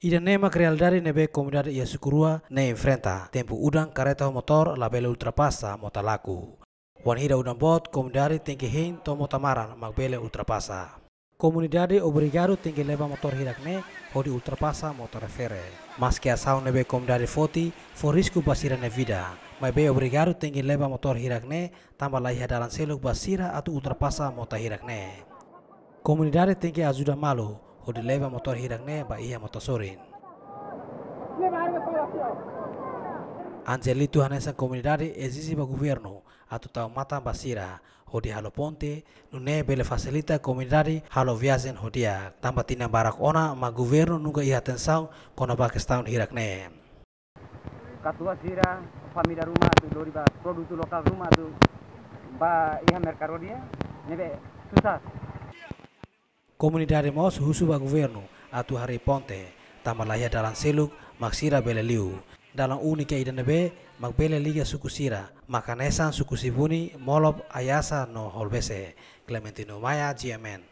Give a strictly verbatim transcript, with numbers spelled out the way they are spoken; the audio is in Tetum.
Ida-ne'e mak realidade ne'ebé komunidade iha suku rua ne'e enfrenta. Tempu udan kareta ho motór labele ultrapasa mota laku. Wainhira udan boot, komunidade tenke hein to'o mota maran mak bele ultrapasa. Komunidade obrigadu tenke leba motór hirak-ne'e hodi ultrapasa mota refere. Maski asaun ne'ebé komunidade foti fó risku ba sira-nia vida, maibé obrigadu tenke leba motór hirak-ne'e tanba la iha dalan seluk ba sira atu ultrapasa mota hirak-ne'e. Komunidade tenke ajuda malu hodi leba motór hirak-ne'e ba iha mota sorin. Angelito hanesan komunidade ezije ba governu atu tau matan ba sira hodi halo ponte, nune'e bele fasilita komunidade halo viajen ho di'ak. Tanba tinan barak ona mak governu nunka iha atensaun kona-ba kestaun hirak-ne'e. Katuas sira, família ruma atu lori ba produtu lokál ruma atu ba iha merkadu di'ak, ne'ebé susar. Komunidade mós husu ba governu atu harii ponte, tanba la iha dalan seluk mak sira bele liu. Dalan úniku ida ne'ebé mak bele liga suku sira mak hanesan suku Sibuni, Molop, Ayasa no Holbese. Clementino Maia, G M N.